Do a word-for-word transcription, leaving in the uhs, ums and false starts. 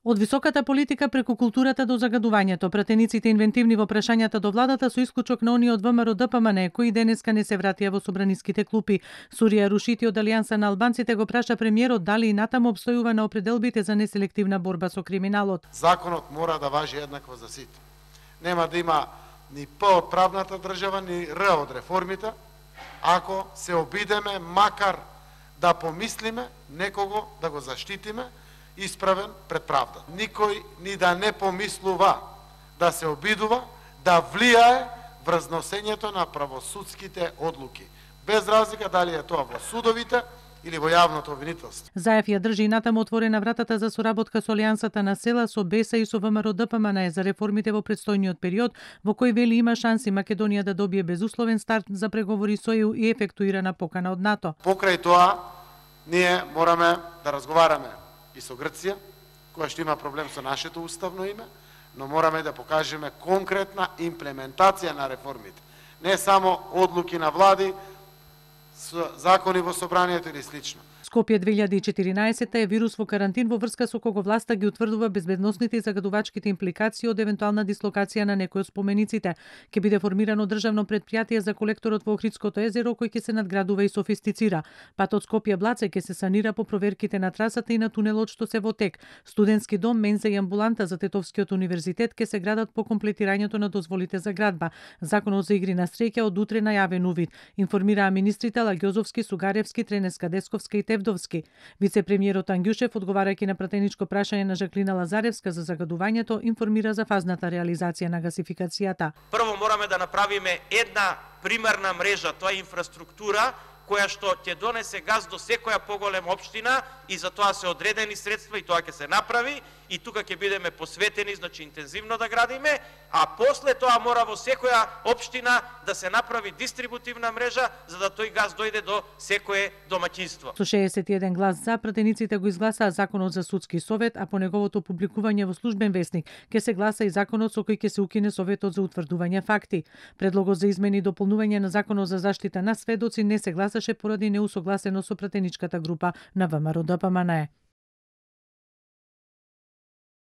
Од високата политика преку културата до загадувањето, пратениците инвентивни во прашањата до владата со исклучок на оние од ВМРО-ДПМН, кои денеска не се вратија во собраниските клупи. Сурија Рушити од Алијанса на албанците го праша премиерот дали и натаму обстојува на определбите за неселективна борба со криминалот. Законот мора да важи еднакво за сите. Нема да има ни П од правната држава, ни Р од реформите, ако се обидеме макар да помислиме некого да го заштитиме исправен пред правда. Никој ни да не помислува да се обидува да влијае врз носењето на правосудските одлуки, без разлика дали е тоа во судовите или во јавното обвинителство. Заев ја држи и натаму отворена вратата за соработка со Алијансата на села, со БЕСА и со ВМРО-ДПМН за реформите во предстојниот период, во кој вели има шанси Македонија да добие безусловен старт за преговори со Е Ју и ефектуирана покана од НАТО. Покрај тоа, ние мораме да разговараме и со Грција, која што има проблем со нашето уставно име, но мораме да покажеме конкретна имплементација на реформите. Не само одлуки на влади, закони во собранието или слично. Скопје две илјади и четиринаесетта е вирус во карантин во врска со кого власта ги утврдува безбедносните и загадувачките импликации од евентуална дислокација на некој од спомениците. Ќе биде формирано државно предпријатие за колекторот во Охридското езеро кој ќе се надградува и софистицира. Патот Скопје-Блаце ќе се санира по проверките на трасата и на тунелот што се во тек. Студентски дом, менза и амбуланта за Тетовскиот универзитет ќе се градат по комплетирањето на дозволите за градба. Законот за игри на среќа од утре најавен увид, информираа министрите Лагјозовски, Сугаревски, Тренеска, Десковска и Тевдовски. Вице-премиерот Ангјушев, одговарајќи на пратеничко прашање на Жаклина Лазаревска за загадувањето, информира за фазната реализација на гасификацијата. Прво мораме да направиме една примерна мрежа, тоа е инфраструктура, која што ќе донесе газ до секоја поголема општина и за тоа се одредени средства и тоа ќе се направи и тука ќе бидеме посветени, значи интензивно да градиме, а после тоа мора во секоја општина да се направи дистрибутивна мрежа за да тој газ дојде до секое домаќинство. Со шеесет и еден глас за, пратениците го изгласаа законот за судски совет, а по неговото публикување во службен весник ќе се гласа и законот со кој ќе се укине советот за утврдување факти. Предлогот за измени и дополнување на законот за заштита на сведоци не се гласаше поради неусогласено со пратеничката група на ВМРО-ДПМН.